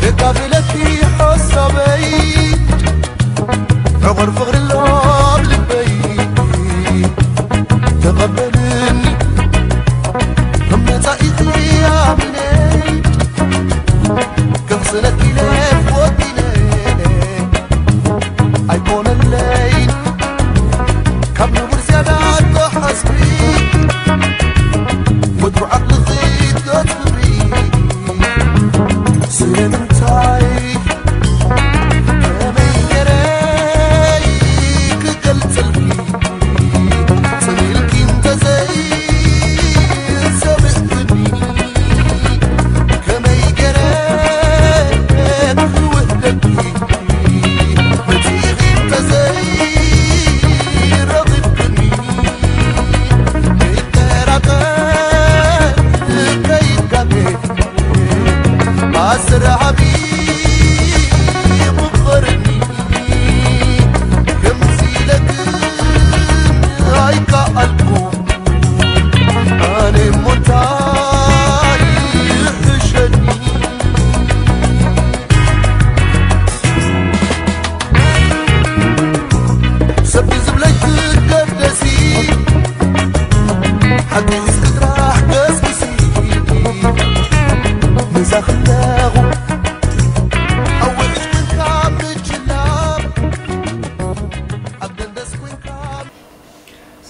የካፍለኪ ሓሳበይ ዕቑር ፍቕሪ ኣሎ ኣብ ልበይ ተቐበልኒ ከም መጻኢኺ ኣሚነ ከኽስነኪ ኢለ ወኪለ ኣይኮነለይ ካብ ንቡር ዝያዳ ተሓስቢ ወትሩ ዓቕልኺ ተትብሪ ስለምንታይ ከመይ ገይረ ክገልጸልኪ ጽሊልኪ እንተዘይሰምዕክኒ ከመይ ገይረ ክውደኪ መጺኺ እንተዘይረኺብክኒ ከይጠራጠር ከይጋገ ኣስርሓቢ ምኸርኒ ከምዚ ኢለክን ኣይከኣልኩ ኣነ እሞ እንታይ ይሕሸኒ ሰብ ዝብለይ ክገደሲ ሓቂ ሒዝኪ ጥራሕ ገስግሲ ምሳኺ ኣለኹ ኣብ ውሕጅ ኮንካ ምጅላብ ኣብ ደንደስ ኮንካ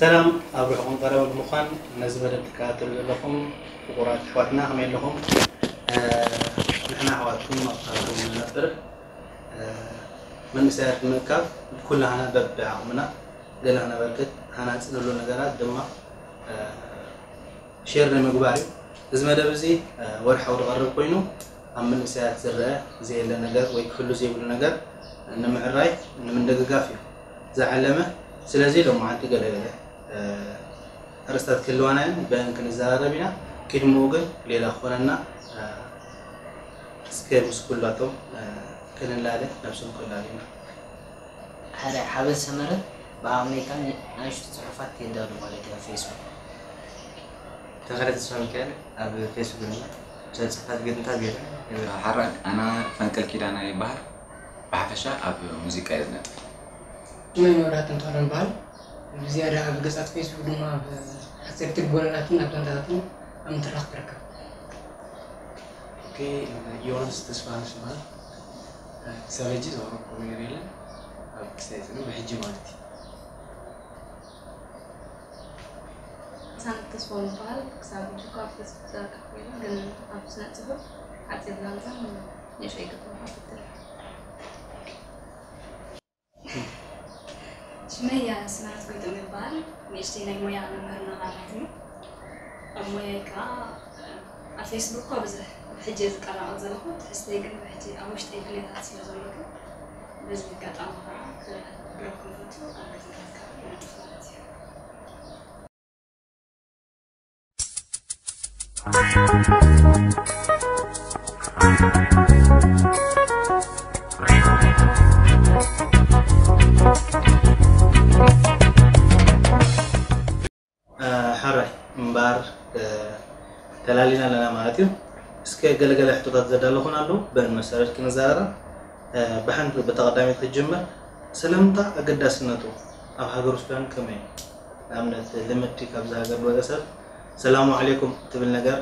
ሰላም ኣብ ርሑቕን ቀረብን ብምዃን ነዚ መደብ ትከታተሉ ዘለኹም ፍቑራት ኣሕዋትና ከመይ ኣለኹም? ንሕና ኣሕዋትኩም ኣብ ከባቢኹም ንነብር መንእሰያት ብምእካብ ኩላህና በብዓቕምና ገለ ክነበርክት ሃናጺ ንብሎ ነገራት ድማ ሼር ንምግባር እዩ። እዚ መደብ እዚ ወርሓዊ ዝቐርብ ኮይኑ ኣብ መንእሰያት ዝረአ ዘየለ ነገር ወይ ክህሉ ዘይብሉ ነገር ንምዕራይ ንምንድግጋፍ እዩ ዝዓለመ። ስለዚ ሎማዓንቲ ገለገለ ኣርእስታት ክህልዋና እየን፣ በአን ክንዘራረብ ኢና። ቅድሚኡ ግን ሌላ ክኾነና እስከ ምስ ኩላቶም ክንላለ ነብስም ክላለ ኢና። ሓበን ሰመረ ብኣምሪካ ንኣሽቱ ጽሑፋት የዳሉ ማለት እዩ ኣብ ፌስቡክ። ተኸለ ተስፋ ሚካኤል ኣብ ፌስቡክ ድማ ብሰብ ጽሑፋት ግጥምታት ገይረ። ሓራይ ኣና ፈንቅል ኪዳነ ይበሃል። ብሓፈሻ ኣብ ሙዚቃ እየ ዝነጥፍ። ሽመይ መብራህቱ እንተኾነ ይበሃል። ብዝያዳ ኣብ ገጻት ፌስቡክ ድማ ኣብ ሓጸርቲ ልቦለዳትን ኣብ ዛንታታትን ኣብ ምትራኽ ትርከብ። ኦኬ፣ ዮናስ ተስፋ ይበሃል። ክሳብ ሕጂ ዘቕረብኩ ነገር የለን። ኣብ ክሳይ ጽንሕ ብሕጂ ማለት እዩ። ሳንት ተስፋ ይበሃል። ክሳብ ሕጂ እኳ ኣብ ፌስቡክ ዘርክብ ኮይኑ ግን ኣብ ስነ ጽሑፍ ሓጺር ዛንታ ንእሽተይ ግጥም ሓፍትር። ሽመይ ኣስመረት ጎይቶም ይበሃል። ንእሽተይ ናይ ሞያ መምህርና ማለት እዩ። ኣብ ሞያይ ከዓ ኣብ ፌስቡክ እኳ ብዙሕ ሕጂ እየ ዝቀላቐል ዘለኹ። ትሕዝተይ ግን ሕጂ ኣብ ውሽጠይ ድሌታት ስለ ዘሎ ግን በዚ ኣጋጣሚ ከዓ ክረኽበኩም ፈቱ ኣብ ገዛታት ከዓ ይነጥፍ ማለት እዩ። ሕራይ እምበኣር ተላሊና ኣለና ማለት እዩ። እስከ ገለገለ ሕቶታት ዘዳለኹና ኣለዉ፣ በን መሰረት ክንዛረብ። ብሓንቲ ብተቐዳሚት ክጅምር፣ ሰላምታ ኣገዳስነቱ ኣብ ሃገር ሱዳን ከመይ እዩ? ንኣብነት ልምዲ ካብዚ ሃገር ዝወፀ ሰብ ሰላሙ ዓለይኩም ትብል ነገር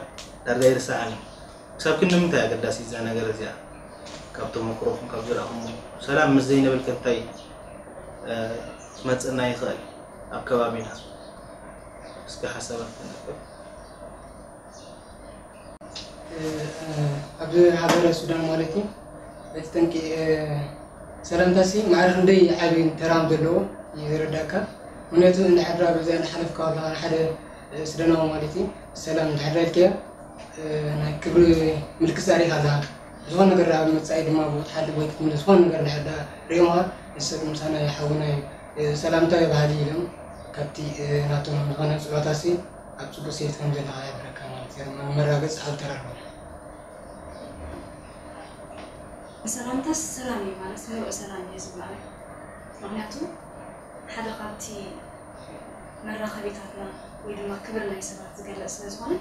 ዳርጋ ይርሳዓኒ። ክሳብ ክንዲ ምንታይ ኣገዳሲ እዛ ነገር እዚኣ? ካብ ተመክሮኹም ካብ ዝረኣኹሞ ሰላም ምስ ዘይንብል ከ እንታይ ክመፀና ይኽእል ኣብ ከባቢና? እስኪ ሓሳባት ተነቅብ። ኣብ ሃገረ ሱዳን ማለት እዩ እቲ ጠንቂ ሰላምታሲ ማዕረ ክንደይ ዓብይን ተራም ዘለዎ ይረዳእካ። ምክንያቱ እንድሕር በዚኣ እናሓለፍካ ከለካ ንሓደ ስደናዊ ማለት እዩ ሰላም እንድሕር ኢልካዮ ናይ ክብሪ ምልክት ኣሪኻ ኣለኻ። ዝኾነ ነገር ኣብ መጻኢ ድማ ብኡ ትሓልፍ ወይ ክትምለስ ዝኾነ ነገር እንድሕር ሪኦምኻ ንሰብ ምሳና ሓውና እዩ ሰላምታ እዩ ባህሊ ኢሎም ካብቲ ናቶም ዝኾነ ጽሎታሲ ኣብ ጽቡቅ ሴት ከም ዘለኻ ይሕብረካ ማለት እዩ። መራገጽ ኣብ ተራርቦ። ሰላምታስ ሰላም እዩ ማለት ምሉእ ሰላም እዩ ዝበሃል። ምክንያቱ ሓደ ካብቲ መራኸቢታትና ወይ ድማ ክብሪ ናይ ሰባት ዝገልጽ ስለ ዝኾነ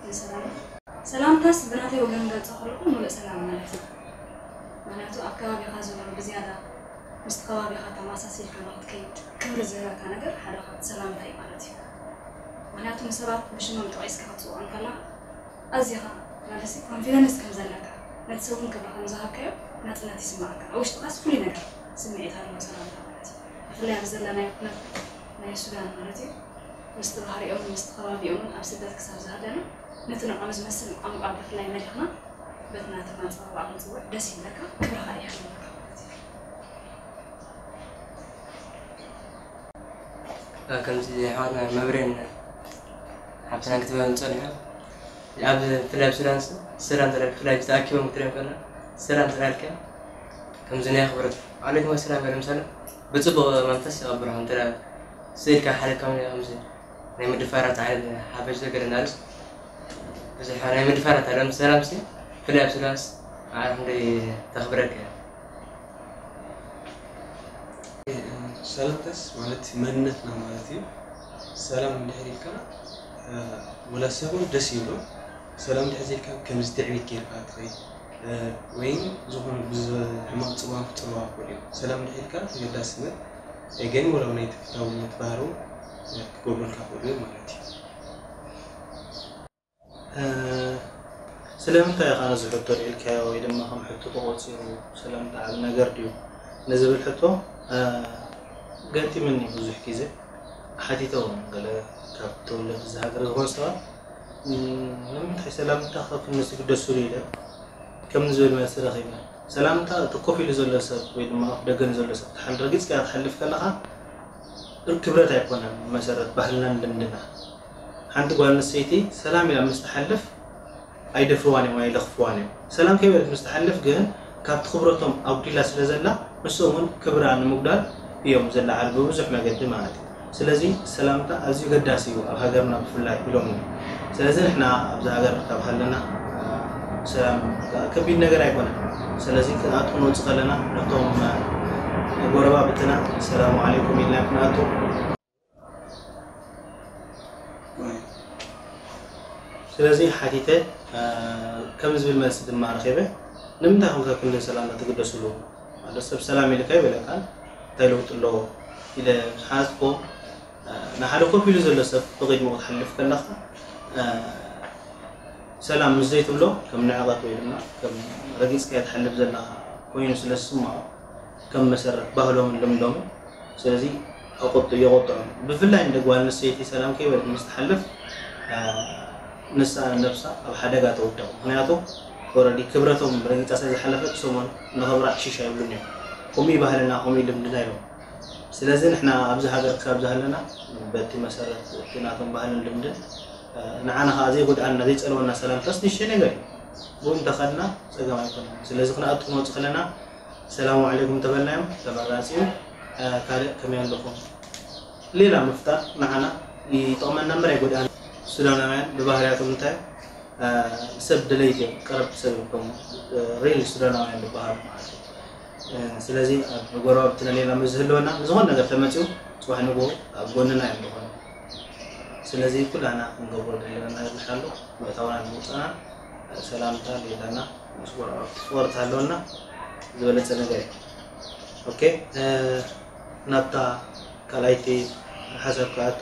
ንሰላም ሰላምታስ ብናተይ ወገን ገልጾ ከለኹ ሙሉእ ሰላም ማለት እዩ። ምክንያቱ ኣብ ከባቢኻ ዘሎ ብዝያዳ ምስቲ ከባቢኻ ተመሳሲልካ ንክትከይድ ክብሪ ዝህበካ ነገር ሓደ ካብቲ ሰላምታ እዩ ማለት እዩ። ምክንያቱ ንሰባት ብሽሞም ጠቒስካ ክትጽውዖም ከለኻ ኣዚኻ ማለት ኮንፊደንስ ከም ዘለካ ነቲ ሰብ እውን ክብሪ ከም ዝሃብካዮ ናጽነት ይስምዓካ። ኣብ ውሽጥኻስ ፍሉይ ነገር ስምዒት ኣለዎ ሰላምታ ማለት እዩ። ብፍላይ ኣብዚ ዘለናዮ ኩነት ናይ ሱዳን ማለት እዩ ምስቲ ባህሪኦምን ምስቲ ከባቢኦምን ኣብ ስደት ክሳብ ዝሃለና ነቲ ንዕኦም ዝመስል ቋንቋ ብፍላይ መሊኽና በቲ ናትና ኣጸዋውዓ ክንጽውዕ ደስ ይብለካ፣ ክብርኻ ይሕልወካ ማለት እዩ። ከምዚ ኣሕዋትና መብሬን ሓብትና ክትበን ጸኒሖም ኣብ ብፍላይ ኣብ ሱዳን ሰላም ተላልካ ብፍላይ ተኣኪቦም ክትሪኦም ከለኻ ሰላም ተላልካ ከምዚ ናይ ኣኽብሮት ዓለይኩም ኣሰላም በለ ምሳለ ብጽቡቕ መንፈስ ይቐብልኻ እንተ ስኢልካ ሓደ ከም ከምዚ ናይ ምድፋራት ዓይነት ሓፈሽ ዘገደ ናርስ ብዙሕ ናይ ምድፋራት ኣለም ሰላም ሲ ብፍላይ ኣብ ሱዳንስ ማዕረ ክንደይ ተኽብረካ እያ ሰላምታስ ማለት መንነትና ማለት እዩ። ሰላም እንድሕር ኢልካ ወላ ሰብ እውን ደስ ይብሎ። ሰላም እንድሕር ዘይልካ ከምዚ ትዕቢት ጌርካ ትኸይድ ወይ ዝኾነ ብሕማቕ ፅዋን ክፅልዋ ክኽእል እዩ። ሰላም እንድሕር ኢልካ ተገዳስነት ገን ወላ ናይ ተፈታውነት ባህሩ ክገብሩልካ ክኽእሉ እዮም ማለት እዩ። ስለምንታይ ኢኻ ነዚ ሕቶ ኣልዒልካዮ ወይ ድማ ከም ሕቶ ተቖጺሩ ስለምንታይ ዓቢ ነገር ድዩ ንዝብል ሕቶ ገጢምኒ ብዙሕ ግዜ ሓቲተ እውን ገለ ካብ ተወለድቲ እዚ ሃገር ዝኾኑ ሰባት ንምንታይ ሰላምታ ካብ ክንስ ይግደሱሉ ኢለ ከምዚ ዝብል መልሲ ረኺበ። ሰላምታ እቲ ኮፍ ኢሉ ዘሎ ሰብ ወይ ድማ ኣፍ ደገ ንዘሎ ሰብ ትሓል ረጊጽካ ክትሓልፍ ከለኻ ክብረት ኣይኮነን መሰረት ባህልናን ልምድና ሓንቲ ጓል ኣንስተይቲ ሰላም ኢላ ምስ ትሓልፍ ኣይደፍርዋን እዮም ኣይለኽፍዋን እዮም ሰላም ከይበለት ምስ ትሓልፍ ግን ካብቲ ክብረቶም ኣጉዲላ ስለ ዘላ ንሶም እውን ክብራ ንምጉዳል እዮም ዘለዓሉ ብብዙሕ መገዲ ማለት እዩ ስለዚ ሰላምታ ኣዝዩ ገዳሲ እዩ ኣብ ሃገርና ብፍላይ ኢሎም ስለዚ ንሕና ኣብዚ ሃገር ካብ ሃለና ሰላም ከቢድ ነገር ኣይኮነን ስለዚ ክኣቱ ክንወፅእ ከለና ነቶም ጎረባብትና ሰላሙ ዓለይኩም ኢልና ክንኣቱ ስለዚ ሓቲተ ከም ዝብል መልሲ ድማ ረኺበ ንምንታይ ኮንካ ክንድን ሰላምና ትግደስሉ ማለት ሰብ ሰላም ኢልካ ይበለካን እንታይ ለውጢ ኣለዎ ኢለ ምስ ሓዝኮ ንሓደ ኮፍ ኢሉ ዘሎ ሰብ ብቕድሚኡ ክትሓልፍ ከለኻ ሰላም ምስ ዘይትብሎ ከም ንዕቐት ወይ ድማ ከም ረጊፅካዮ ትሓልፍ ዘለኻ ኮይኑ ስለ ዝስምዖ ከም መሰረት ባህሎምን ልምዶምን ስለዚ ኣቆጡ የቆጥዖም ብፍላይ እንደ ጓል ኣንስተይቲ ሰላም ከይበለት ምስ ትሓልፍ ንሳ ነብሳ ኣብ ሓደጋ ተውድቕ ምክንያቱ ኦረዲ ክብረቶም ረጊፃ ስለ ዝሓለፈት ሰሞን ንኽብራ ዕሽሽ ኣይብሉን እዮም ከምኡ ባህልና ከምኡ ልምድና ኢሎም ስለዚ ንሕና ኣብዚ ሃገር ክሳብ ዝሃለና በቲ መሰረት እቲ ናቶም ባህልን ልምድን ንዓና ከዓ ዘይጎድኣና ዘይፀልወና ሰላምታስ ንእሽተይ ነገር እዩ ብኡ እንተኸድና ፀገም ኣይኮነን ስለዚ ክንኣቱ ክንወፅእ ከለና ሰላሙ ዓለይኩም ተበልናዮም ተመራፂ እዩ ካልእ ከመይ ኣለኹም ሌላ ምፍጣር ንዓና ይጠቕመና እምበር ኣይጎድኣና ሱዳናውያን ብባህርያቶም እንታይ ሰብ ደለይቲ እዮም ቀረብቲ ሰብ እዮም ሪል ሱዳናውያን ዝበሃሉ ማለት እዩ ስለዚ ኣብ ጎረባብትና ሌላ ምስ ዝህልወና ዝኾነ ነገር ተመፅኡ ፅባሕ ንግሆ ኣብ ጎንና እዮም ዝኾኑ ስለዚ ኩላና ክንገብሮ ዘለና ነገር ንሓሉ ምእታውና ንምውፃእና ሰላምታ ሌላና ምስ ጎረባብቲ ፍቕሪ ተሃለወና ዝበለፀ ነገር እዩ ኦኬ ናብታ ካልኣይቲ ሓሳብ ክኣቱ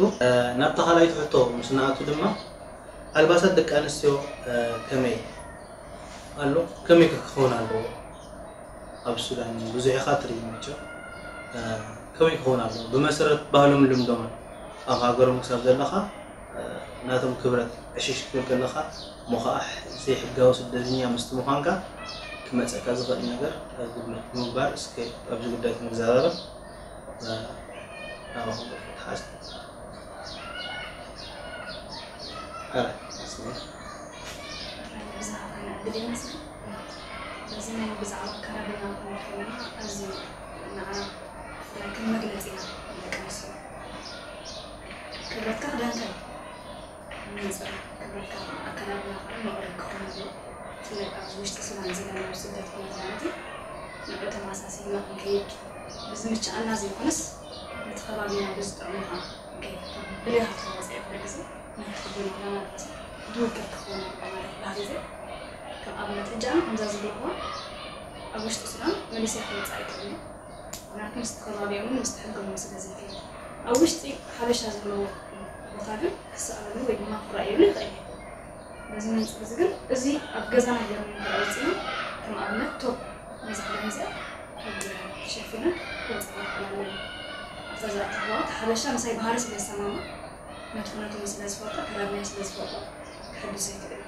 ናብታ ካልኣይቲ ሕቶ ምስ ንኣቱ ድማ ኣልባሳት ደቂ ኣንስትዮ ከመይ ኣሎ ከመይ ከ ክኸውን ኣለዎ ኣብ ሱዳን ብዙሕ ኢኻ ትርኢ መቸም ከመይ ክኸውን ኣለዎ ብመሰረት ባህሎም ልምዶምን ኣብ ሃገሮም ክሳብ ዘለኻ ናቶም ክብረት ዕሽሽ ክትብል ከለኻ እሞ ከዓ ዘይሕጋዊ ስደተኛ ምስቲ ምዃንካ ክመፀካ ዝኽእል ነገር ግምት ብምግባር እስከ ኣብዚ ጉዳይ ክንዘራረብ ናባኹም ክትሓዝ በዚ ናይ ብዛዕባ ኣከዳድና ክንብል ከለና ኣዝዩ ንዓና ብፍላይ ከም መግለፂና ደቂ ኣንስትዮ ክብረትካ ክዳንካ እዩ መነፅር ክብረትካ ኣከዳድና ከዓ መቕረብ ክኾን ኣለዎ ብፍላይ ኣብዚ ውሽጢ ሱዳን ዘለና ኣብ ስደት ኩነት ማለት እዩ ንዑ ተመሳሲልና ክንከይድ ብዝምችኣና ዘይኮነስ ነቲ ከባቢና ብዝጥዕሙኻ ብልያኻ ክትወፅእ ኩሉ ግዜ ናይ ትኽብር ኢላ ማለት እዩ። ድውግር ክኸውን ኣለዎ ማለት ባህል ግዜ ከም ኣብነት ሕጂ ኣነ ከምዛ ዝብልዋ ኣብ ውሽጢ ሱዳን መሊሰ ክወፅእ ኣይክእልን እዩ። ምክንያቱ ምስቲ ከባቢኦምን ምስቲ ሕጎምን ስለ ዘይከይድ ኣብ ውሽጢ ሓበሻ ዘለዎ ቦታ ግን ክሰኣለሉ ወይ ድማ ክረኣየሉ ይኽእል እዩ። በዚ መንፅር እዚ ግን እዚ ኣብ ገዛና ጌርና እንተወፂና ከም ኣብነት ቶብ ነዚ ክዳን እዚኣ ቶብ ሸፊነ ክወፅእ ይኽእል ኣለኒ። ኣብዛ ዝኣተኽዋ እቲ ሓበሻ ምሳይ ባህሪ ስለ ዝሰማማ ነቲ ኩነቱ ስለ ዝፈልጦ ኣከዳድናይ ስለ ዝፈልጦ ክሕግዝ ይኽእል እዩ።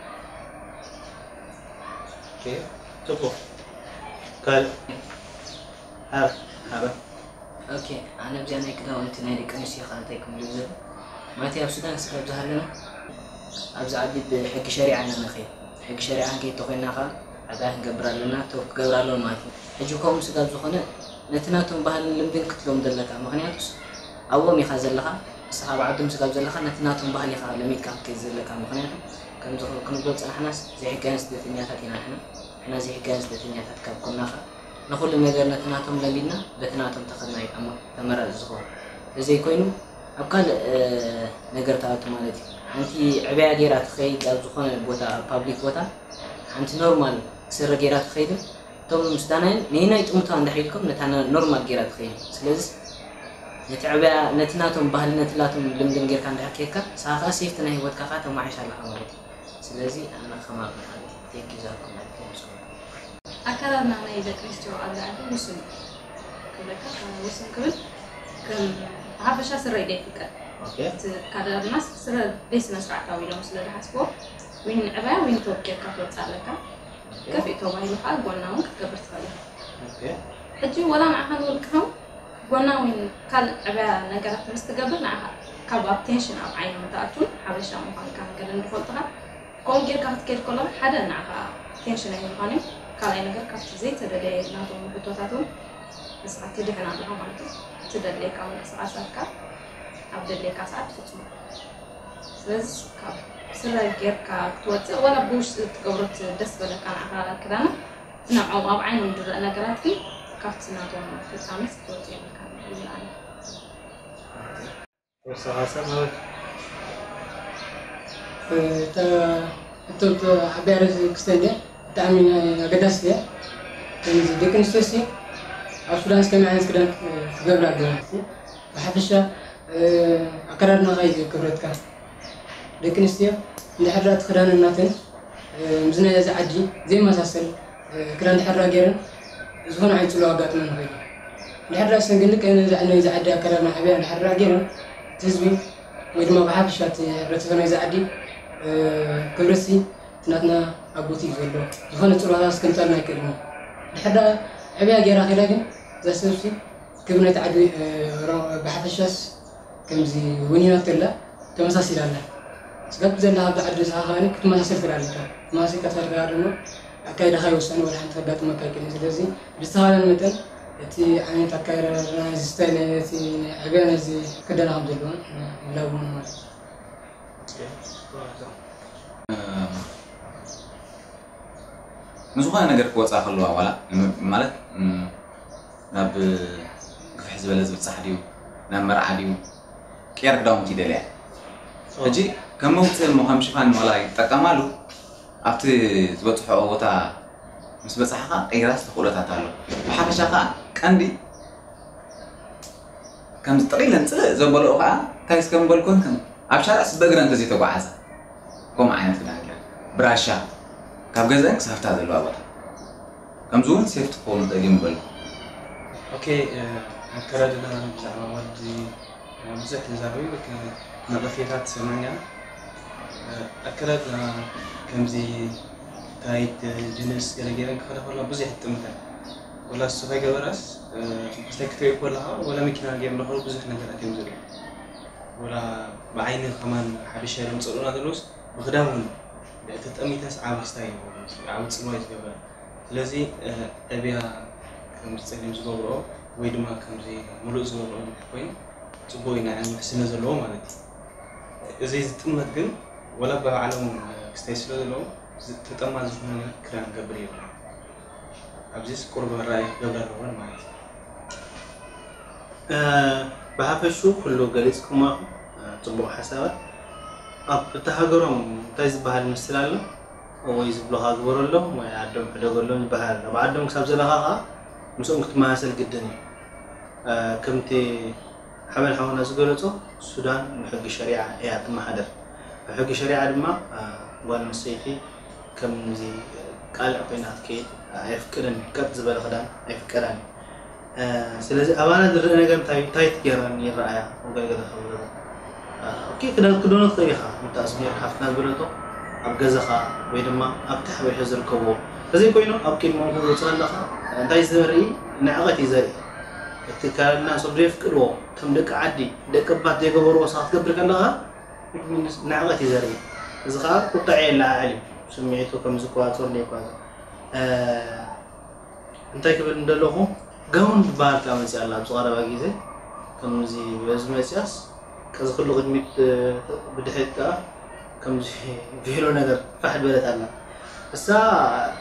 ኦኬ፣ ጽቡቕ። ካልእ ሓር ሓበን ኦኬ ኣነ ኣብዚኣ ናይ ክዳውንቲ ናይ ደቂ ኣንስትዮ ከ እንታይ ክምልእ ዘሎ ማለት ኣብ ሱዳን ስጋብ ዝሃለና ኣብዚ ዓዲ ብሕጊ ሸሪዓ ኢና ንኸይድ ሕጊ ሸሪዓ ክንከይድ ተኮይና ከ ዓብያ ክንገብር ኣለና ቶብ ክገብር ኣለዎ ማለት እዩ ሕጂ ከምኡ ስጋብ ዝኾነ ነቲ ናቶም ባህልን ልምድን ክትሎም ዘለካ ምክንያቱስ ኣብኦም ኢኻ ዘለኻ ንስኻ ኣብ ዓዶም ስጋብ ዘለኻ ነቲ ናቶም ባህሊ ኢኻ ለሚድካ ክትከይድ ዘለካ ምክንያቱ ከምዚ ክንብሎ ዝፀናሕናስ ዘይሕጋውያን ስደተኛታት ኢና ንሕና ንሕና ዘይሕጋውያን ስደተኛታት ካብ ኮንና ከ ንኹሉ ነገር ነቲ ናቶም ለሚድና በቲ ናቶም ተኸድና እዩ ተመራፂ ዝኸውን ተዘይኮይኑ ኣብ ካልእ ነገር ትኣቱ ማለት እዩ ሓንቲ ዕብያ ገይራ ትኸይድ ኣብ ዝኾነ ቦታ ኣብ ፓብሊክ ቦታ ሓንቲ ኖርማል ስረ ገይራ ትኸይድን እቶም ሱዳናውያን ነየናይ ጥምቱዋ እንድሕር ኢልኩም ነታ ኖርማል ገይራ ትኸይድ ስለዚ ነቲ ዕብያ ነቲ ናቶም ባህሊ ነቲ ናቶም ልምድን ጌርካ እንድሕር ከይድካ ንስኻ ከዓ ሴፍቲ ናይ ህይወትካ ከዓ ተማሓይሽ ኣለኻ ማለት እዩ ስለዚ ኣነ ከማል መሓመድ ቴንኪ ዛኩም ኣልኩም ስኩም ኣከዳድና ናይ ደቂ ኣንስትዮ ኣብ ላዕሊ ውሱን እዩ ክብለካ ውሱን ክብል ከም ብሓፈሻ ስረ እዩ ዘይፍቀድ እቲ ኣከዳድናስ ስረ ዘይስነ ስርዓታዊ ኢሎም ስለ ዝሓስብዎ ወይን ዕባያ ወይን ቶብ ጌርካ ትወፅእ ኣለካ ከፊእ ተባሂሉ ከዓ ጎና እውን ክትገብር ትኽእል ኢኻ ሕጂ ወላ ንዓኻ ንውልቅኻ ጎና ወይን ካልእ ዕባያ ነገራት ምስ ትገብር ንዓኻ ካብ ኣብ ቴንሽን ኣብ ዓይኖም ትኣቱን ሓበሻ ምዃንካ ገለን ዝፈልጡኻ ከምኡ ጌርካ ክትከይድ ከለኻ ሓደ ንዓኻ ቴንሽን ኣይምዃን እዩ ካልኣይ ነገር ካብቲ ዘይተደለየ ናቶም ሕቶታት እውን ንስኻ ትድሕን ኣለኻ ማለት እዩ ትደለየካ ምንቅስቃሳትካ ኣብ ደለየካ ሰዓት ትፍፅሞ ስለዚ ካብ ስረ ጌርካ ክትወፅእ ወላ ብውሽጢ ትገብሮ ደስ በለካ ንዓኻ ክዳና ንዕኦም ኣብ ዓይኖም ዝረአ ነገራት ግን ካብቲ ናቶም ፍፃመስ ክትወፅእ የብልካ ይብል ኣነ ተወሳኺ ሓሳብ ማለት እታ ሕቶ ዓብያ ርእሲ ክስተ እንደ ብጣዕሚ ናይ ኣገዳሲ እያ ከምዚ ደቂ ኣንስትዮ ሲ ኣብ ሱዳን እስከመይ ዓይነት ክዳን ክገብራ ኣለዋ ብሓፈሻ ኣከዳድናኻ እዩ ክብረትካ ደቂ ኣንስትዮ እንድሕር እቲ ክዳነን ናተን ምስ ናይ እዚ ዓዲ ዘይመሳሰል ክዳን እንድሕር ገይረን ዝኾነ ዓይነት ፅልዋ ኣጋጥመን ይኽእል እዩ። እንድሕር ዳኣ ሰንገል ልክዕ ነዚ ነዚ ዓዲ ኣከዳድና ዓብያ እንድሕር ዳኣ ገይረን እቲ ህዝቢ ወይ ድማ ብሓፈሻ እቲ ሕብረተሰብ ናይዚ ዓዲ ክብረትሲ እቲ ናትና ኣቦት እዩ ዘሎ ዝኾነ ፅልዋታት ክምፀልና ኣይክእልን እዩ። እንድሕር ዳኣ ዕብያ ገይራ ከይዳ ግን እዛ ሰብሲ ክብሪ ናይቲ ዓዲ ብሓፈሻስ ከምዚ ወኒናቶ ኣላ ተመሳሲላ ኣላ ስጋብ ዘላ ኣብዚ ዓዲ ንስኻ ከኣ ክትመሳሰል ትኽእል ኣለካ ተመሳሲልካ ትኸድ ከኣ ድማ ኣካይዳኻ ይወሰን ወላ ሓንቲ ከጋጥመካ ኣይክእልን ስለዚ ብዝተኻለን መጠን እቲ ዓይነት ኣካይዳ ናይዚ ስታይል እቲ ናይ ዕብያ ናይዚ ክዳና ከም ዘለዎ ምህላው እውን ማለት እዩ ንዝኾነ ነገር ክወፃ ከለዋ ዋላ ማለት ናብ ግፍሕ ዝበለ ዝብፃሕ ድዩ ናብ መርዓ ድዩ ቅያር ክዳውንቲ ይደልያ ሕጂ ከም መውፅኢ እሞ ከም ሽፋን ዋላ ይጠቀማሉ ኣብቲ ዝበፅሖ ቦታ ምስ በፃሕኻ ቅይራስ ተኽእሎታት ኣሎ ብሓፈሻ ከዓ ቀንዲ ከምዚ ጥቕኢለን ፅልእ ዘበለኦ ከዓ እንታይ እስከ ምበልኩን ከም ኣብ ሻርዕስ በእግረን ተዘይተጓዓዛ ከምኡ ዓይነት ክዳን ገይረን ብራሻ ካብ ገዘአን ክሳብ ኣብታ ዘለዋ ቦታ ከምዚ እውን ሴፍቲ ክኸውን ይኽእል እዩ ምበልኩ ኦኬ ኣከዳድና ብዛዕባ ወዲ ብዙሕ ተዛረቢ ነቐፌታት ሰምዕና ኣከዳድና ከምዚ ታይት ጅንስ ገለ ገይረን ክኸዳ ከለዋ ብዙሕ ይጥምተን ወላ እሱ ከይገበራስ ክስታይ ክትሪኦ ከለኻ ወላ መኪና ገይሩ ለኸሉ ብዙሕ ነገራት እዮም ዝርኢ ወላ ብዓይኒ ከማን ሓበሻ ኢሎም ዝፅልኡና ዘለውስ ብክዳን እውን ተጠሚተስ ዓቢ ክስታይ ዓቢ ፅልዋ እዩ ዝገብረን ስለዚ ዕብያ ከምዚ ፀሊም ዝገብርኦ ወይ ድማ ከምዚ ሙሉእ ዝገብርኦ እንድሕር ኮይኑ ፅቡቅ እዩ ናይ ዓይኒ ውሕስነ ዘለዎ ማለት እዩ እዚ ዝጥመት ግን ወላ ብባዕሎም ክስታይ ስለ ዘለዎም ተጠማት ዝኾነ ክዳን ክገብር የብሎም ኣብዚስ ቁሩብ ኣረኣእያ ክገብር ኣለወን ማለት እዩ ብሓፈሹ ኩሉ ገሊጽኩሞ ኢኹም። ጽቡቕ ሓሳባት። ኣብ እታ ሃገሮም እንታይ ዝበሃል ምስል ኣሎ? ወይ ዝብሎኻ ግበረሎም ወይ ዓዶም ሕደገሎም ዝበሃል ኣሎ። ኣብ ዓዶም ክሳብ ዘለኻ ኸኣ ምስኦም ክትመሳሰል ግድን እዩ። ከምቲ ሓበን ሓውና ዝገለጾ፣ ሱዳን ብሕጊ ሸሪዓ እያ ትመሓደር። ብሕጊ ሸሪዓ ድማ ጓል ኣንስተይቲ ከምዚ ቃልዕ ኮይና ክትከይድ ኣየፍቅድን እዩ። ቀጥ ዝበለ ክዳን ኣይፍቀዳን እዩ። ስለዚ ኣባና ዝረአ ነገር እንታይ እንታይ ትገይረን ይረኣያ? ገለገለ ካብ ገዛ ኦኬ፣ ክዳን ክደኖ ትኽእል ኢኻ። ምታስ ሜር ሓፍትና ዝበለቶ ኣብ ገዛኻ ወይ ድማ ኣብቲ ሓበሻ ዝርከብዎ ተዘይኮይኑ ኣብ ቅድሞም ክወፅእ ኣለኻ እንታይ ዘርኢ ንዕቐት እዩ ዘርኢ። እቲ ኣከዳድና ንሶም ዘየፍቅድዎ እቶም ደቂ ዓዲ ደቂ ኣባት ዘይገበርዎ ንስኻ ክትገብር ከለኻ ንዕቐት እዩ ዘርኢ። እዚ ከዓ ቁጥዐ የለዓዕል እዩ። ስምዒቱ ከም ዝቆፃፀር ዘይቆፃፀር እንታይ ክብል እንደለኹ፣ ጋውን ዝበሃል ከኣ መፅያ ኣላ ኣብዚ ቀረባ ግዜ። ከምዚ በዚ መፅያስ ከዚ ኩሉ ቅድሚት ብድሕሪት ከኣ ከምዚ ቬሎ ነገር ፋሕ ዝበለት ኣላ። እሳ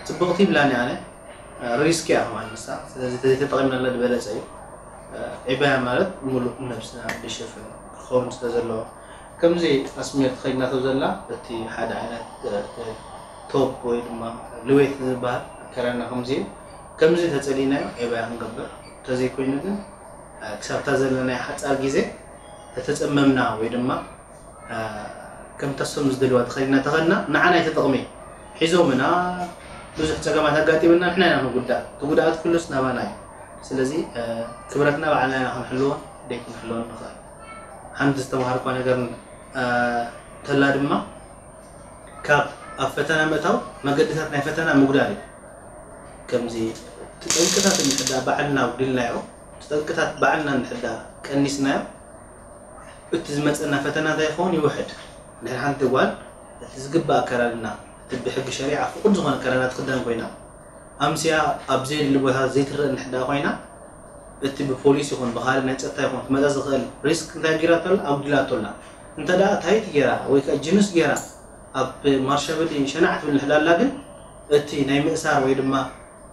ፅብቕቲ ይብላኒ ኣነ። ሪስክ እያ ከማን ንሳ። ስለዚ ተዘይተጠቒምናላ ዝበለፀ እዩ። ዒባያ ማለት ሙሉእ ነብስና ዝሸፍን ክኸውን ስለ ዘለዎ ከምዚ ኣስሜር ተኸዲናቶ ዘላ እቲ ሓደ ዓይነት ቶፕ ወይ ድማ ልዌት ዝበሃል ኣከዳድና ከምዚ እዩ። ከምዚ ተጸሊእናዮ ዒባያ ክንገብር፣ እንተዘይኮይኑ ግን ክሳብታ ዘለናዮ ሓጻር ግዜ ተተጸመምና ወይ ድማ ከምታ እሶም ዝደልዋ ተኸዲና ተኸድና ንዓና ኣይተጠቕመይ። ሒዞምና ብዙሕ ጸገማት ኣጋጢምና ንሕና ኢና ንጉዳእ። እቲ ጉድኣት ኩሉስ ናባና እዩ። ስለዚ ክብረትና ባዕልና ኢና ክንሕልዎን ደይ ክንሕልዎን ንኽእል። ሓንቲ ዝተምሃርኳ ነገር ተላ ድማ ካብ ኣብ ፈተና ምእታው መገድታት ናይ ፈተና ምጉዳል እዩ። ከምዚ እቲ ጠንቅታት እንድሕዳ ባዕልና ኣጉዲልናዮ፣ እቲ ጠንቅታት ባዕልና እንድሕዳ ቀኒስናዮ፣ እቲ ዝመፀና ፈተና እንታይ ይኸውን ይውሕድ። እንድሕር ሓንቲ ጓል እቲ ዝግባእ ኣከዳድና እቲ ብሕጊ ሸሪዓ ፍቁድ ዝኾነ ኣከዳድና ትኽደን ኮይና ኣምስያ ኣብ ዘየድሊ ቦታ ዘይትረአ እንድሕዳ ኮይና እቲ ብፖሊስ ይኹን ብኻልእ ናይ ፀጥታ ይኹን ክመፃ ዝኽእል ሪስክ እንታይ ጌራቶ ኣላ ኣጉዲላቶ ኣላ። እንተ ደኣ ታይት ጌራ ወይ ከዓ ጅንስ ጌራ ኣብ ማርሻ በዲ ሸናዕ ትብል እንድሕዳ ኣላ ግን እቲ ናይ ምእሳር ወይ ድማ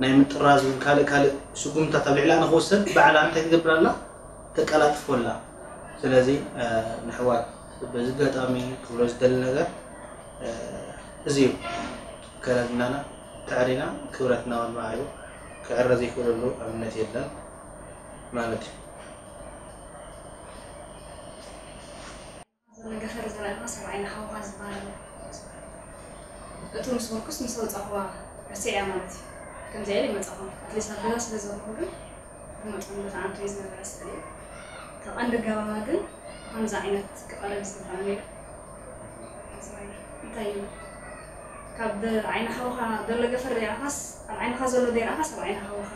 ናይ ምጥራዝ እውን ካልእ ካልእ ስጉምታት ኣብ ልዕላ ንክወሰድ ባዕላ እንታይ ትገብር ኣላ ተቀላጥፎ ኣላ። ስለዚ ንሕዋት በዚ ኣጋጣሚ ክብሎ ዝደሊ ነገር እዚ እዩ። ከረድናና ተዕሪና ክብረትና እውን ማዕሪኡ ክዕረ ዘይክእለሉ ኣብነት የለን ማለት እዩ። ዘሎ ገፈር ዘርእኻ ሰብኣይ ንሓውኻ ዝበሃል እቱ ምስ በልኩስ ምስ ኣውፃእኽዋ ርስዕ እያ ማለት እዩ። ከምዚኣ ኢለ ይመፃኹም ኣትሊስት ኣብ ገዛ ስለ ዘለኹ ግን ዝመፅኹም ቦታ ኣንቶ እዩ ዝነበረ ስእሊ እቲ ቀንዲ ኣገባባ ግን ብኸምዚ ዓይነት ክቐርብ ዝግባእ ነይሩ። እንታይ እዩ ካብ ዓይኒ ሓውኻ ዘሎ ገፈር ዘይረኣኻስ ኣብ ዓይንኻ ዘሎ ዘይረኣኻስ ኣብ ዓይኒ ሓውኻ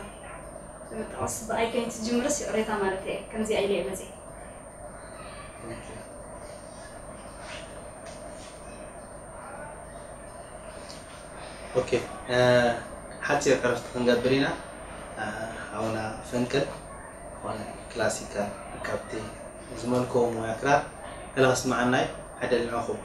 ብምጥቃስ ብኣይ ከይትጅምርስ ይቕሬታ ማለት እየ። ከምዚኣ ኢለ እየ መፅየ። ኦኬ ሓፂር ዕረፍቲ ክንገብር ኢና። ሓውና ፈንቅል ዝኾነ ክላሲካል ካብቲ ዝመልክዎ ሙያ ክራር ገለ ከስምዓና እዩ። ዕድል ንዕኹም።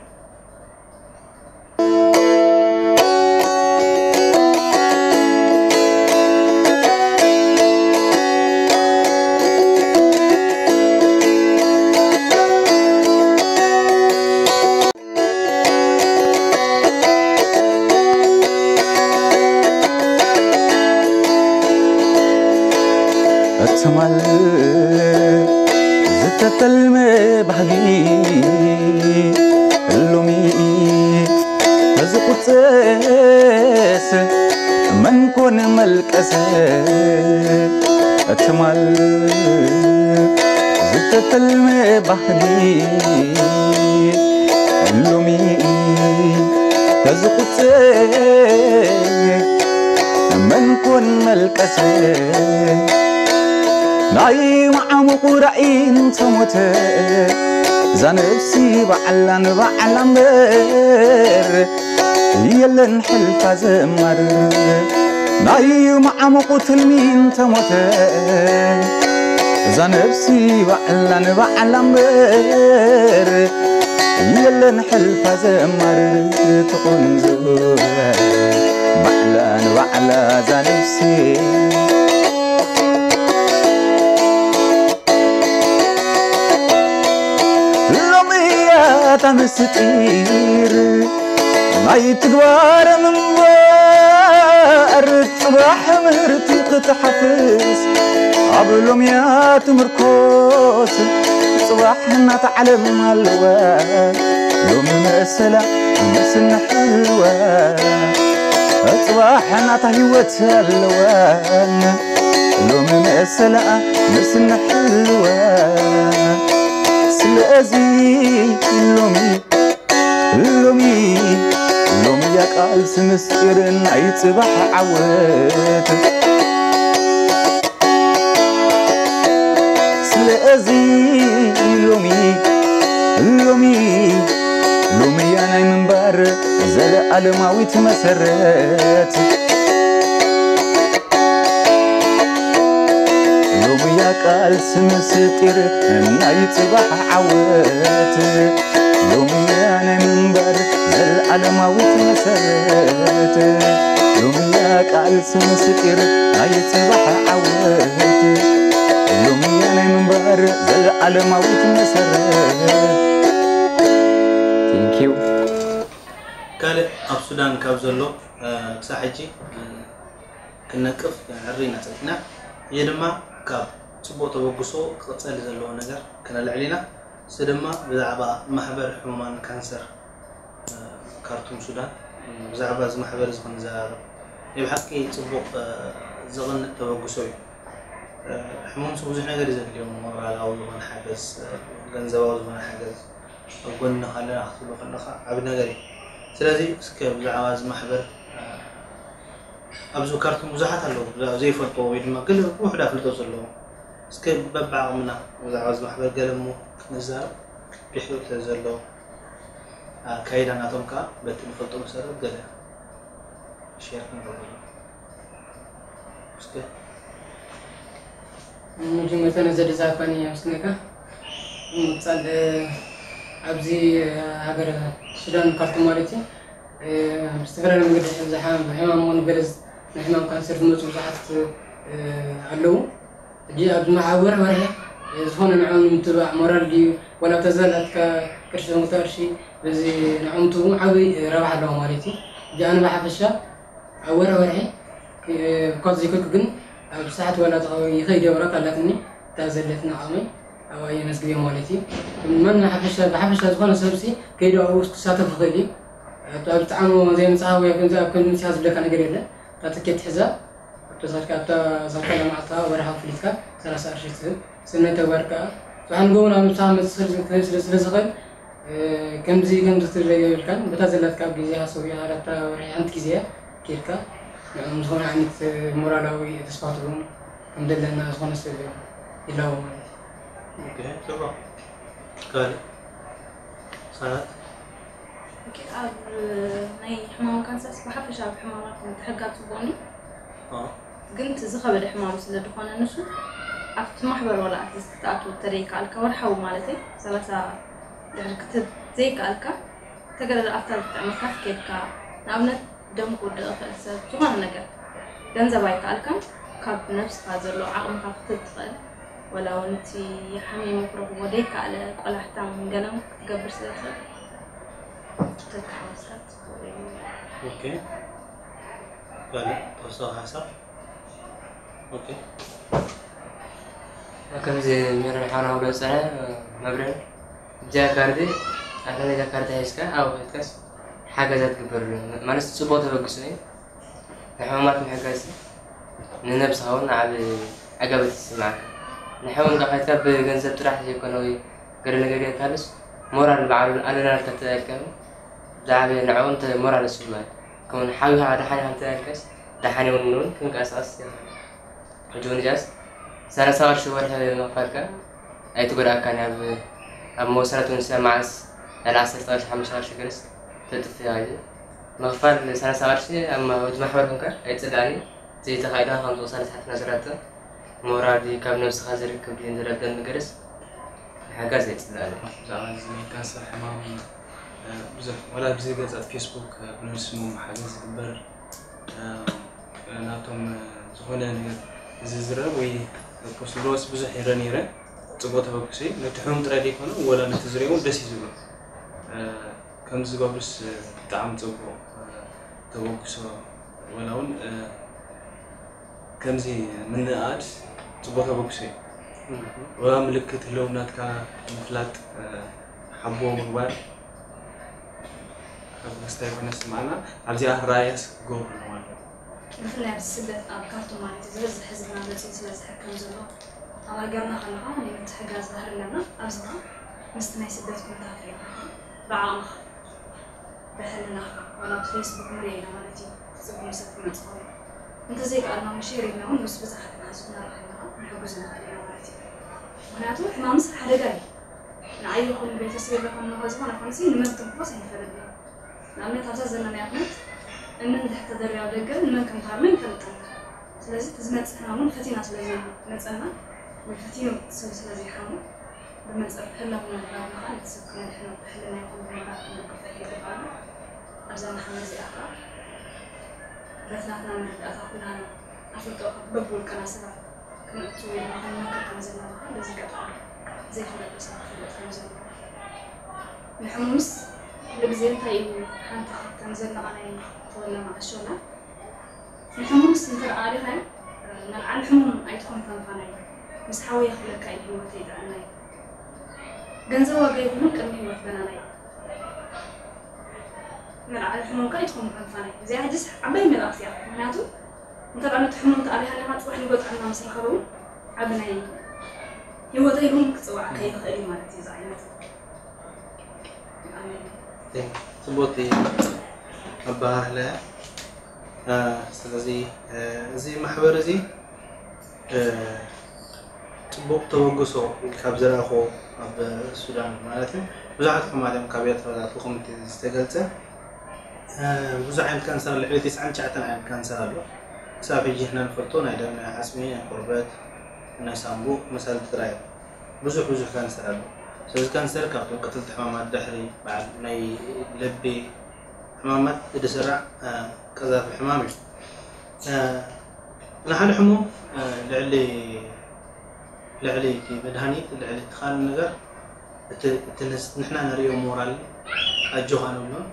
ትማል ዝተተልመ ባህጊ ሎሚ ተዝቁፀስ መን ኮን መልቀሰ። ትማል ዝተተልመ ባህጊ ሎሚ ተዝቁፀስ መን ኮን መልቀሰ። ናይ መዓሙቑ ራእይ እንተሞተ እዛ ነብሲ ባዕላ ንባዕላ እምበር የለን ሕልፋ ዘማርር። ናይ መዓሙቑ ትልሚ እንተሞተ እዛ ነብሲ ባዕላ ንባዕላ እምበር የለን ሕልፋ ዘማርር። ትቑንዙ ባዕላ ንባዕላ እዛ ነብሲ ኣታ ምስጢር ናይ ትግባረ ምንባር ጽባሕ ምህርቲ ክትሓፍስ ኣብ ሎምያ ትምርኮስ ጽባሕ እናታ ዓለም ኣለዋ ሎሚ መሰላ ምስንሕዋ ጽባሕ እናታ ህይወት ኣለዋ ሎሚ መሰላ ምስንሕዋ ስለዚ ሎሚ ሎሚ ሎሚ እያ ቃልሲ ምስጢር ናይ ጽባሕ ዓወት ስለዚ ሎሚ ሎሚ ሎሚ እያ ናይ ምንባር ዘለዓለማዊት መሰረት ሎምያ ቃልሲ ምስጢር ናይ ጽባሕ ዓወት ሎምያ ናይ ምንባር ዘለዓለማዊት መሰረት ሎምያ ቃልሲ ምስጢር ናይ ጽባሕ ዓወት ሎምያ ናይ ምንባር ዘለዓለማዊት መሰረት Thank you። ካልእ ኣብ ሱዳን ካብ ዘሎ ክሳብ ሕጂ ክነቅፍ ንዕሪ ኢና ጸኒሕና። ሕጂ ድማ ካብ ጽቡቕ ተበግሶ ክቕጸል ዘለዎ ነገር ክነልዕል ኢና። እሱ ድማ ብዛዕባ ማሕበር ሕሙማን ካንሰር ካርቱም ሱዳን ብዛዕባ እዚ ማሕበር እዚ ክንዘራረብ ናይ ብሓቂ ጽቡቕ ዘቕንእ ተበግሶ እዩ። ሕሙምቲ ብዙሕ ነገር እዩ ዘድልዮም፣ ሞራላዊ ዝኾነ ሓገዝ፣ ገንዘባዊ ዝኾነ ሓገዝ ኣብ ጎንኻ ኣለና ክትብሎ ከለኻ ዓቢ ነገር እዩ። ስለዚ እስከ ብዛዕባ እዚ ማሕበር ኣብዚ ካርቱም ብዙሓት ኣለዉ ዘይፈልጥዎ ወይ ድማ ገለ ውሑድ ኣፍልጦ ዘለዎም እስከ በብዓቕምና ብዛዕባ እዚ ማሕበር ገለ እሞ ክንዛረብ ድሕሪኡ ዘሎ ኣካይዳ ናቶም ከዓ በቲ ንፈልጦ መሰረት ገለ ሸር ክንገብረሉ እስከ መጀመርታ ነዘ ድዛፋኒ ኣመስግነካ ምቅፃል ኣብዚ ሃገር ሱዳን ካርቱም ማለት እዩ ብዝተፈላለዩ መንገዲ ዝሓም ብሕማም ኾነ ገለ ንሕማም ካንሰር ዝመፁ ብዙሓት ኣለዉ ሕጂ ኣብ ዝመሓወር ወርሒ ዝኾነ ንዕኦም ንምትባዕ ሞራል ድዩ ዋላ ኣብታ ዘላትካ ቅርሺ ዘምግቶ ቅርሺ በዚ ንዕኦም ትህቦም ዓብይ ረብሓ ኣለዎ ማለት እዩ ሕጂ ኣነ ብሓፈሻ ኣብ ወርሒ ወርሒ እኳ ዘይከልኩ ግን ኣብ ሰዓት ዋላ ይኸይድ እየ ወረቀት ኣላትኒ እታ ዘለትኒ ዓቕመይ ኣብኣ የመስግን ማለት እዩ መን ብሓፈሻ ዝኾነ ሰብሲ ከይዱ ኣብኡ ክሳተፍ ይኽእል እዩ ኣብጣዕሞ ዘይምፅሃው ኣብ ከምዚ ምፅሃ ዝብለካ ነገር የለን እታ ትኬት ትሕዛ ኣብታ ሰርካ ኣብታ ሰርካ ለማዕልታ ወርሓዊ ክፍሊትካ ሰላሳ ቅርሺ ትህብ ስነ ተግባር ከዓ ዝሓንጎውን ኣብ ምሳኻ መፅእ ስለ ዝኽእል ከምዚ ከምዚ ክትብል የብልካን በታ ዘላትካ ኣብ ግዜኻ ሰዊእኻ ዳታ ወርሒ ሓንቲ ግዜ እያ ኬድካ ንዕኦም ዝኾነ ዓይነት ሞራላዊ ተስፋ ትህቦም ከም ዘለና ዝኾነ ሰብ ይላቦ ማለት እዩ። ኦኬ፣ ጽቡቕ። ካልእ ሳላት ኦኬ፣ ኣብ ናይ ሕማም ካንሰርስ ብሓፈሻ ኣብ ሕማማት ምትሕግጋዝ ጽቡቕ እዩ። ግን እቲ ዝኸበደ ሕማም ስለ ዝኾነ ንሱ ኣብቲ ማሕበር ዋላ ኣትሊስት ክትኣትው እንተደይከኣልካ ወርሓዊ ማለተይ ሰላሳ ድሕሪ ክትህብ ዘይከኣልካ ተገለ ኣብታ ዝጥዕመካ ክትከድካ ንኣብነት ደም ክውድቕ ይኽእል ሰብ ዝኾነ ነገር ገንዘብ ኣይከኣልካን ካብ ነብስኻ ዘሎ ዓቕምኻ ክትህብ ትኽእል ወላ እውን እቲ ሓሚሙ ክረኽቦ ደይከኣለ ቆላሕታን ገለን ክትገብር ስለ ትኽእል ተተሓዋስካ ጽቡቕ እዩ። ኦኬ ካልእ ተወሳኺ ሓሳብ ኦኬ ከምዚ ሜሮን ሓውና ክብሎ ዝፀንሐ መብርሂ እዚኣ ካርዲ ኣታ ነዛ ካርዲ ሒዝካ ኣብኡ ከይድካስ ሓገዛ ትግበረሉ ማለት ፅቡቕ ተበግሶ እዩ ንሕሙማት ምሕጋዝ ንነብስኻ እውን ዓብ ዕጋበት ይስምዓካ ንሕሙም ዶ ከይድካ ብገንዘብ ጥራሕ ዘይኮነ ወይ ገለ ነገር ጌርካሉስ ሞራል ባዕሉ ኣለና ኢልካ ተባሂልካ ዝዓበየ ንዕኡ ሞራል ይስምዓካ ከምኡ ሓቢኻ ደሓን ኢኻ እንተባሂልካስ ደሓን እውን ክንቀሳቐስ ይኽእል ሕጂ እውን እዚኣስ ሰላሳ ቅርሺ ወርሒ ምኽፋልካ ኣይትጎድኣካን እያ ኣብ መወሰነት እውን ስለ መዓስ ልዕሊ ዓሰርተ ቅርሺ ሓሙሽተ ቅርሺ ገለስ ተጥፍእ እያ ሕጂ ምኽፋል ሰላሳ ቅርሺ ኣብ እቲ ማሕበር ኮንካ ኣይትፅላእን እዩ ዘይተኻኢልካ ከምዚ ቅሳነት ሓፍትና ዝብላቶ ሞራል ድዩ ካብ ነብስኻ ዝርከብ ድዩ ዝረበኒ ገለስ ምሕጋዝ ኣይፅላእን እዩ። ብዛዕባ እዚ ናይ ካንሰር ሕማም ብዙሕ ዋላ ብዘይ ገፃት ፌስቡክ ብነብስሞም ሓገዝ ዝግበር ናቶም ዝኾነ ነገር ዝዝረብ ወይ ፖስት ዝብለዎስ ብዙሕ ይረ ነይረ ፅቡቅ ተበግሶ እዩ ነቲ ሕሙም ጥራይ ዘይኮነ ወላ ነቲ ዝሪኦ እውን ደስ እዩ ዝብሎ ከምዚ ዝገብሩስ ብጣዕሚ ፅቡቅ ተበግሶ፣ ወላ እውን ከምዚ ምንእኣድ ፅቡቅ ተበግሶ እዩ። ወላ ምልክት ህልውናትካ ምፍላጥ ሓቦ ምግባር ካብ ክስታይ ኮነ ስማዕና ኣብዚኣ ራእያስ ክገብሩ ኣለዎ። ብፍላይ ኣብዚ ስደት ኣብ ካርቱም ማለት እዩ ዝበዝሕ ህዝብና መፂኡ ስለ ዝሕከም ዘሎ፣ ኣብ ሃገርና ከለኻ ናይ ምትሕጋዝ ባህሪ ኣለና። ኣብዚ ኸዓ ምስቲ ናይ ስደት ኩነታት ርኢኻ ብዓቕምኻ ብሕልናኻ ዋላ ኣብ ፌስቡክ ንሪኦ ኢና ማለት እዩ። ትፅቡም ሰብ ክመፅእ ከሎ እንተዘይከኣልና እውን ሼር ኢልና እውን ምስ ብዙሓት መሓዙትና ርኢኻ ኣለኻ ንሕጉዝ ንኽእል ኢና ማለት እዩ። ምክንያቱ ሕማምስ ሓደጋ እዩ። ንዓይ ይኹን ንቤተሰብ ይረኸብ ንኸ ዝኾነ ኮንሲ ንመን ትንኮስ ኣይንፈልጥ ኢና። ንኣብነት ኣብዛ ዘለናያ ኩነት እምን ድሕር ተደርያ ኣብ ደገ ንመን ከም ትሃርመ ይፈልጠና። ስለዚ እቲ ዝመፅእ ሕማም እውን ፈቲና ስለ ዘይመፀና ወይ ፈቲኑ ሰብ ስለ ዘይሓሙ ብመፀ ህላው ነባርና ከዓ ነቲ ሰብ ክነድሕኖ ብሕልና ይኹን ብሞራል ክንድግፎ ይግባኣና። ኣብዛ መሓመ እዚኣ ከዓ በቲ ናትና መረዳእታ ኩላና ኣፍልጦ በብውልቅና ሰባት ክንእቱ ወይ ድማ ክንመክር ከም ዘለና ከዓ በዚ ኣጋጣሚ ዘይፍለጡ ሰባት ክፍለጥ ከም ዘለዎ። ንሕሙምስ ኩሉ ግዜ እንታይ እዩ ሓንቲ ካብተን ዘለቓ ናይ ተወለማ ኣሾና ንሕሙምስ እንተ ደኣ ኣሊኻዮ፣ መልዓሊ ሕሙም ኣይትኹን ፈንፋናይ። ምስ ሓወይ ክብለካ እዩ ህይወተይ ጥዕናይ። ገንዘብ ዋጋ የብሉን ቅድሚ ህይወት በናናይ። መልዓሊ ሕሙምካ ኣይትኹን ፈንፋናይ። እዚኣ ሕጅስ ዓባይ መልእኽቲ እያ። ምክንያቱ እንተ ደኣ ነቲ ሕሙም ተኣሊኻ ኣለኻ፣ ጽባሕ ንጎ ጥዕና ምስ ረኸበ እውን ዓቢ ናይ ህይወተይ እውን ክጽዋዓካ ይኽእል እዩ ማለት እዩ። እዚ ዓይነት ጽቡቅ ኣባሃህላ እያ። ስለዚ እዚ ማሕበር እዚ ጽቡቅ ተበግሶ ካብ ዝረኣኹ ኣብ ሱዳን ማለት እዩ። ብዙሓት ሕማት እዮም ካብ ኤርትራ ዝኣትዉ ከምቲ ዝተገልጸ። ብዙሕ ዓይነት ካንሰር ኣሎ። ልዕሊ ተስዓን ትሽዓተን ዓይነት ካንሰር ኣሎ። ክሳብ ሕጂ ንሕና ንፈልጦ ናይ ደም፣ ናይ ዓጽሚ፣ ናይ ቆርበት፣ ናይ ሳንቡእ መሳሊ ጥራይ እዮም። ብዙሕ ብዙሕ ካንሰር ኣሎ። ስለዚ ካንሰር ካብቶም ቀተልቲ ሕማማት ድሕሪ በዓል ናይ ልቢ ሕማማት እቲ ስራዕ ቀዛፊ ሕማም እዩ። ንሓደ ሕሙም ልዕሊ ልዕሊ እቲ መድሃኒት ልዕሊ እቲ ካልእ ነገር እቲ ንሕና ንሪኦ ሞራል ኣጆኻ ንብሎን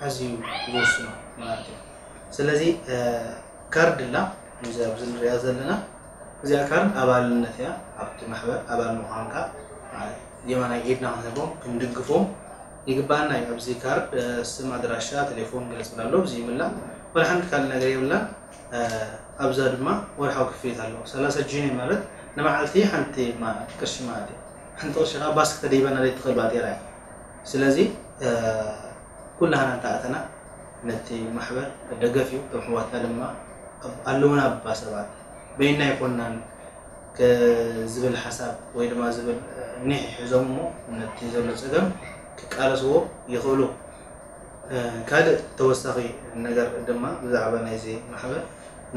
ኣዝዩ ዝወስኖ ማለት እዩ። ስለዚ ካርድ ላ እዚ ኣብዚ ንሪኣ ዘለና እዚኣ ካርድ ኣባልነት እያ። ኣብቲ ማሕበር ኣባል ምዃንካ የማናይ ኢድና ክንህቦም ክንድግፎም ይግባኣና እዩ። ኣብዚ ካርድ ስም፣ ኣድራሻ፣ ቴሌፎን ገለ ዝብል ኣሎ። እዚ ይምላ ወላ ሓንቲ ካልእ ነገር የብላን። ኣብዛ ድማ ወርሓዊ ክፍሊት ኣለዎ። ሰላሳ ጂኒ ማለት ንመዓልቲ ሓንቲ ቅርሺ ማለት እዩ። ሓንቲ ቅርሺ ከዓ ባስ ክተደይበና ዘይትኽእል ባጤራ እያ። ስለዚ ኩላህና እንተኣተና ነቲ ማሕበር ደገፍ እዩ። እቶም ኣሕዋትና ድማ ኣለውና እባ ሰባት በይና ኣይኮንናን ዝብል ሓሳብ ወይ ድማ ዝብል ኒሕ ይሕዞም እሞ ነቲ ዘሎ ፀገም ክቃለስዎ ይኽእሉ። ካልእ ተወሳኺ ነገር ድማ ብዛዕባ ናይዚ ማሕበር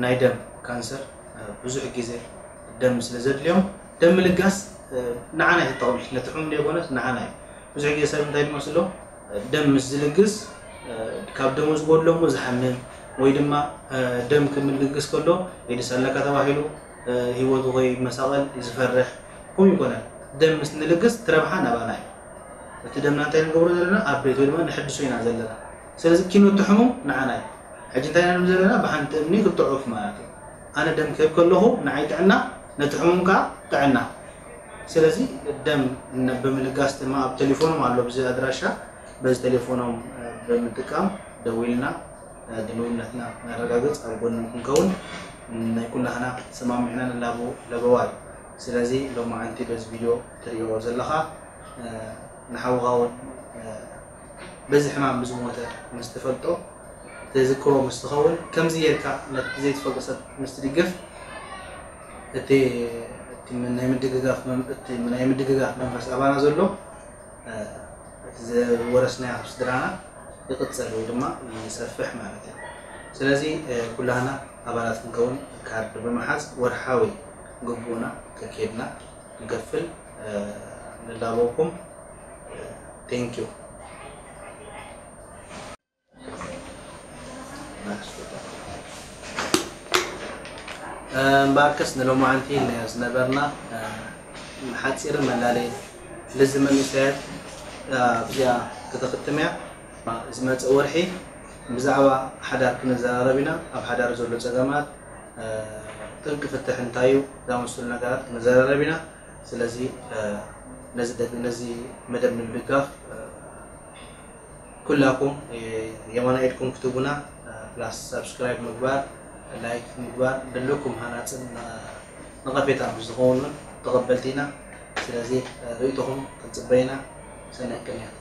ናይ ደም ካንሰር ብዙሕ ግዜ ደም ስለ ዘድልዮም ደም ምልጋስ ንዓና እዩ ተጠቕሚ ነቲ ሕሙም ዘይኮነስ ንዓና እዩ። ብዙሕ ግዜ ሰብ እንታይ ዝመስሎ ደም ምስ ዝልግስ ካብ ደሙ ዝጎድሎ እሞ ዝሓምም ወይ ድማ ደም ክምልግስ ከሎ ኤድስ ኣለካ ተባሂሉ ህይወቱ ከይመሳቐል ዝፈርሕ ከምኡ ይኮነን። ደም ምስ ንልግስ ትረብሓ ናባና እዩ። እቲ ደምና እንታይ ንገብሮ ዘለና ኣብ ቤት ወይ ድማ ንሕድሶ ኢና ዘለና። ስለዚ ኪኖ እቲ ሕሙም ንዓና እዩ። ሕጂ እንታይ ኢና ንብል ዘለና ብሓንቲ እምኒ ክልተ ዑፍ ማለት እዩ። ኣነ ደም ክህብ ከለኹ ንዓይ ጥዕና ነቲ ሕሙም ከዓ ጥዕና። ስለዚ ደም ብምልጋስ ድማ ኣብ ቴሌፎኖም ኣሎ ብዚ ኣድራሻ በዚ ቴሌፎኖም ብምጥቃም ደዊልና ድልውነትና ነረጋግፅ ኣብ ጎኖም ክንከውን ናይ ኩላህና ተሰማሚዕና ንላቦ ለበዋ እዩ። ስለዚ ሎማዓንቲ በዚ ቪድዮ ትሪኦ ዘለኻ ንሓውኻ እውን በዚ ሕማም ብዝሞተ ምስ ትፈልጦ ተዝክሮ ምስ ትኸውን ከምዚ ጌርካ ነቲ ዘይትፈልጦ ሰብ ምስ ትድግፍ እቲ ናይ ምድግጋፍ ናይ ምድግጋፍ መንፈስ ኣባና ዘሎ እቲ ዝወረስናዮ ካብ ስድራና ይቕፅል ወይ ድማ ይሰፍሕ ማለት እዩ። ስለዚ ኩላህና ኣባላት ክንከውን ካርድ ብምሓዝ ወርሓዊ ግቡእና ከኬድና ንከፍል ንላበወኩም። Thank you። እምበኣርከስ ንሎማዓንቲ ኢልናዮ ዝነበርና ሓፂርን መላለይን ልዚ መንእሰያት ኣብዚኣ ከተኽትም እያ። ዝመፅእ ወርሒ ብዛዕባ ሓዳር ክንዘራረብ ኢና። ኣብ ሓዳር ዘሎ ፀገማት፣ ጥንቂ ፍትሕ እንታይ እዩ፣ ዝኣመሰሉ ነገራት ክንዘራረብ ኢና። ስለዚ ነዚ መደብ ንምድጋፍ ኩላኩም የማና ኢድኩም ክትቡና፣ ፕላስ ሳብስክራይብ ምግባር፣ ላይክ ምግባር፣ ዘለኩም ሃናፅን ነቐፌታ ምስ ዝኸውን እውን ተቐበልቲ ኢና። ስለዚ ርእይቶኹም ክንፅበ ኢና። ሰናይ ቅንያት።